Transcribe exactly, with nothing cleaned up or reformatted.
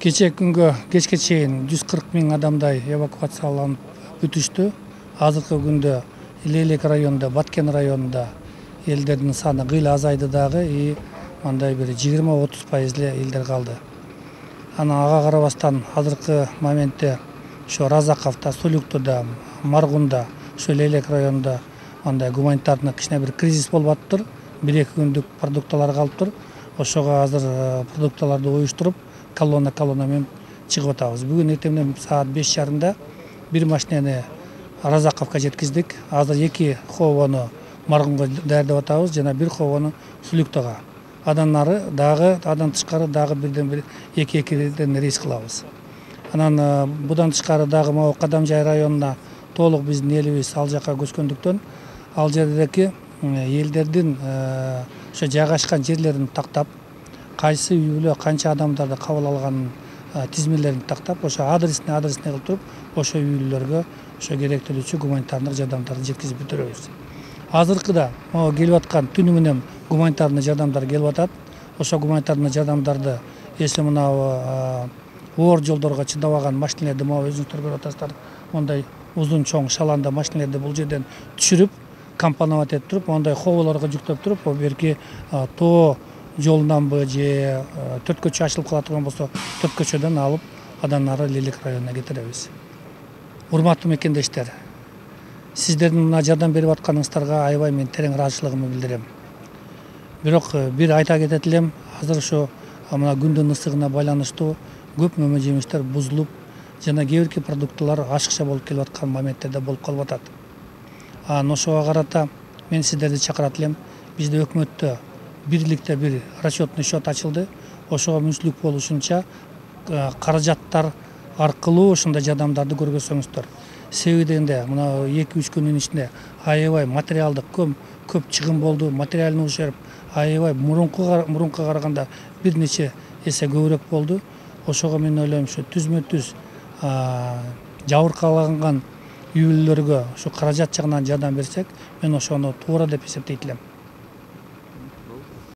Кече күнгө кечке чейин жүз кырк миң адамдай эвакуацияланып бүтүштү. Азыркы күндө Илелек районунда, Баткен районунда элдердин саны кыйла азайды дагы, и мындай бир жыйырма отуз пайыз эле элдер калды. Анан ага карабастан азыркы моментте ошо Разаковдо, Сулюктуда, Маргунда, ошо Илелек районунда андай гуманитарный кичине бир кризис болуп атыптыр. бир эки күндүк продукталар калыптыр. Ошого азыр продукталарды уюштуруп, колонна колонна менен чыгып атабыз. Бүгүн эртеңден саат беш жарымда бир машинени Разаковго жеткиздик. Азыр эки ховону Маргунга даярдап атабыз жана бир ховону Сулюктага. Андан ары дагы андан тышкары дагы бирден бир эки экиден рейс кылабыз. Анан будан тышкары дагы могу Кадамжай районуна толук биздин элибиз ал жака көчкөндүктөн ал жердеги элдердин ошо жайгашкан жерлерин тактап, кайсы үй бүлө канча адамдарды кабыл алганын тизмелерин тактап, ошо адресине адресине кылып туруп, ошо үй бүлөлөргө ошо керектелүүчү гуманитардык жардамдарды жеткизип бүтүрөбүз. Азыркыда могу келип аткан түнү менен гуманитарный жардамдар келип атат. Ошо гуманитарный жардамдарды если мына оор жолдорго чыдабаган машинелерди могу өзүңүздөр көрүп атасыздар, мондай узун чоң шаланда машинелерди бул жерден түшүрүп, компоновать этип туруп, мондай ховолорго жүктөп туруп, берки тоо жолунанбы же төрт көчө ачылып кала турган болсо, төрт көчөдөн алып, андан ары Илелек районуна кетиребиз. Урматтуу мекендештер, сиздердин мына жардам берип атканыңыздарга аябай мен терең ыраазычылыгымды билдирем. Бирок бир айта кетет элем, азыр ошо мына күндүн ысыгына байланыштуу көп мөмө жемиштер бузулуп, жана кээ бирки продукталар ашыкча болуп келип аткан моменттерде болуп калып атат. Анан ошого карата мен сиздерди чакырат элем. Бизде өкмөттө бирликте бир расчетный счет ачылды. Ошого мүнчүлүк болушунча каражаттар аркылуу ошондой жардамдарды көргөзсөңүздөр. Себеби дегенде мына эки үч күндүн ичинде аябай материалдык көп көп чыгым болду, материальный ущерб аябай мурунку мурунка караганда бир нече эсе көбүрөөк болду. Ошого мен ойлойм, ушу түзмө түз жабыркаланган үй бүлөлөргө ушу каражат жагынан жардам берсек, мен ошону туура деп эсептейт элем.